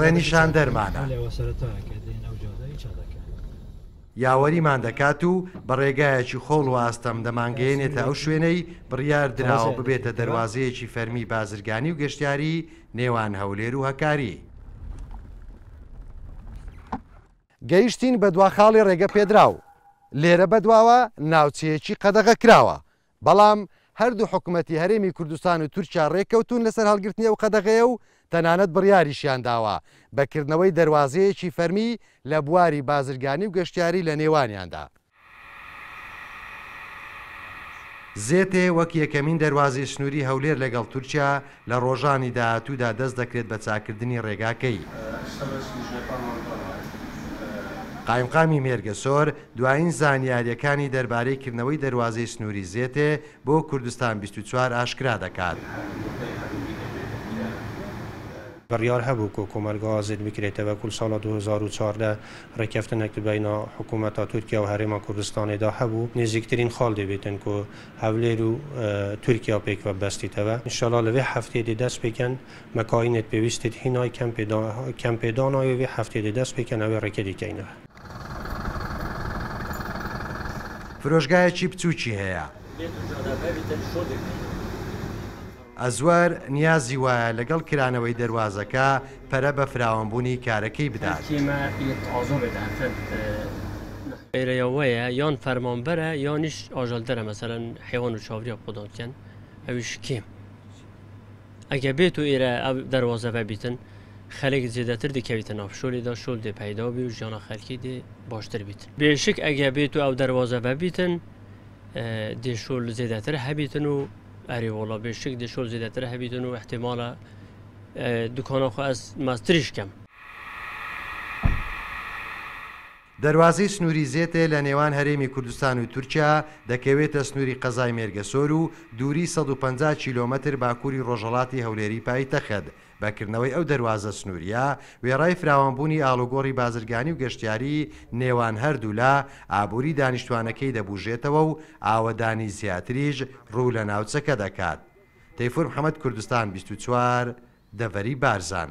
ڕێنیشاندەرمانە. یاوەریمان دەکات و بە ڕێگایەکی خۆڵ و ئاستەم دەمانگەیەنێتە ئەو شوێنەی بڕیار دراوە ببێتە دەروازەیەکی فەرمی بازرگانی و گەشتیاری نێوان هەولێر و هەکاری. گەیشتین بە دوا خاڵی ڕێگە پێدراو. لێرە بەدواوە ناوچەیەکی قەدەغە کراوە، بەڵام هەردوو حکومەتی هەرێمی کوردستان و تورکیا ڕێککەوتوون لەسەر هەڵگرتنی ئەو قەدەغەیە و تەنانەت بڕیاریشیان داوە بە کردنەوەی دەروازەیەکی فەرمی لە بواری بازرگانی و گەشتیاری لە نێوانیاندا. زێتێ وەک یەکەمین دەروازەی سنووری هەولێر لەگەڵ تورکیا، لە ڕۆژانی داهاتوودا دەست دەکرێت بە چاککردنی ڕێگاکەی. قایمقامی مێرگەسۆر دوایین زانیارییەکانی دەربارەی کردنەوەی دەروازەی سنووری زێتێ بۆ کوردستان 24 ئاشکرا دەکات. بڕیار هەبوو کۆ کۆمەڵگا ئازاد بکرێتەوە کول ساڵا 2014 ڕێککەفتنێک بەینا حکوومەتا تورکیا و هەرێما کوردستانێدا هەبوو نزیکترین خاڵ دەبێتن کۆ هەولێر و تورکیا پێکوە بەستیتەوە ئینشاڵا لەوێ هەفتەیە دێ دەست پێکەن مەکاینت پێویستت هینای کەم پێدانای وێ هەفتەیە دێ دەست پێکەن ئەوێ ڕێکە دیکەینەوە. فرۆشگایەکی بچووکی هەیە. ئەزوەر نیازی وایە لەگەڵ کرانەوەی دەروازەکە پەرە بە فراوانبوونی کارەکەی بدات. ئێرەیەوەیە یان فەرمانبەرە یانیش ئاژەڵدەرە مەسەلەن حیوان و چاوریا خۆدان بکەن ئەویش کێم ئەگە بێت و ئێرە ئەو دەروازە بەبیتن خەلک زێدەتر دەکەویتە ناو شۆلیدا شۆل دێ پەیدا بی و ژیانە خەلکی دێ باشتر بیت بێشک ئەگە بێت و ئەو دەروازە بەبیتن دێ شۆل زێدەتر هەبیتن و ئەرێ وەڵا بێشک دێ شۆل زێدەتر هەبیتن و احتمالە دوکانە خۆ ئەس ماستریش کەم. دەروازەی سنووری زێتێ لە نێوان هەرێمی کوردستان و تورکیا دەکەوێتە سنووری قەزای مێرگەسۆر و دووری 150 کیلۆمەتر باکووری ڕۆژهەڵاتی هەولێری پایتەخت. بە کردنەوەی ئەو دەروازە سنوورییە، وێڕای فراوانبوونی ئاڵوگۆڕی بازرگانی و گەشتیاری نێوان هەردوولا، ئابووری دانیشتوانەکەی دەبوژێتەوە و ئاوەدانی زیاتریش ڕوو لە ناوچەکە دەکات. تەیفور محەمەد کوردستان 24، دەڤەری بارزان.